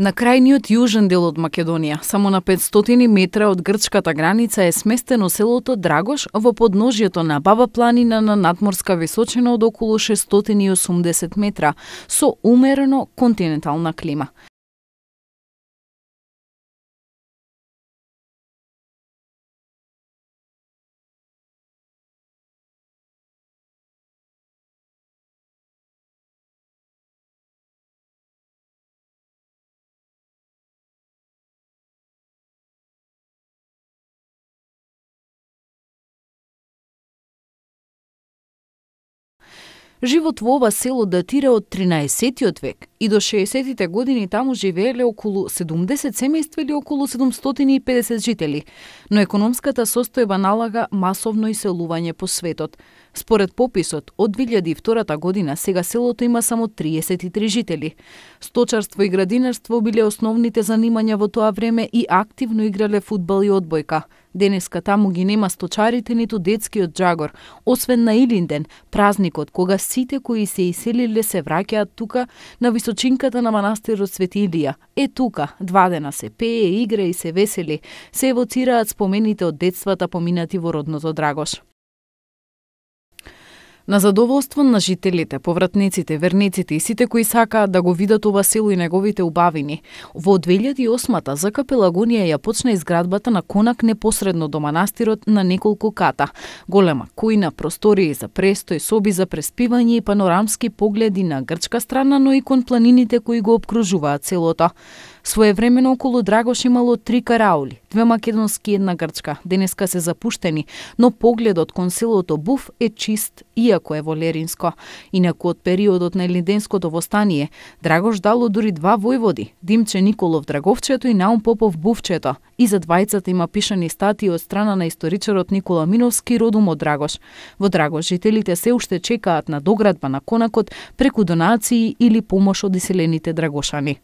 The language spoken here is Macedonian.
На крајниот јужен дел од Македонија, само на 500 метра од грчката граница е сместено селото Драгош во подножјето на Баба планина на надморска височина од околу 680 метра, со умерено континентална клима. Живот во ова село датира од 13-тиот век и до 60-тите години таму живееле околу 70 семејства или околу 750 жители, но економската состојба налага масовно иселување по светот. Според пописот, од 2002 година сега селото има само 33 жители. Сточарство и градинарство биле основните занимања во тоа време и активно играле фудбал и одбојка. Денеска таму ги нема сточарите ниту детскиот џагор, освен на Илинден, празникот кога сите кои се иселиле се враќаат тука на височинката на манастирот Свети Илија. Тука, 2 дена се пее, игра и се весели, се евоцираат спомените од детствата поминати во родното Драгош. На задоволство на жителите, повратниците, верниците и сите кои сакаат да го видат ова село и неговите убавини, во 2008-та ЗК Пелагонија ја почна изградбата на конак непосредно до манастирот на неколку ката. Голема кујна, простории за престој, соби за преспивање и панорамски погледи на грчка страна, но и кон планините кои го опкружуваат селото. Своевремено околу Драгош имало 3 караули, 2 македонски и 1 грчка. Денеска се запуштени, но погледот кон селото Буф е чист, иако е волеринско. Инаку од периодот на Илинденското востание, Драгош дало дури 2 војводи, Димче Николов Драговчето и Наум Попов Буфчето. И за двајцата има пишани статии од страна на историчарот Никола Миновски, родом од Драгош. Во Драгош жителите се уште чекаат на доградба на конакот преку донации или помош од иселените драгошани.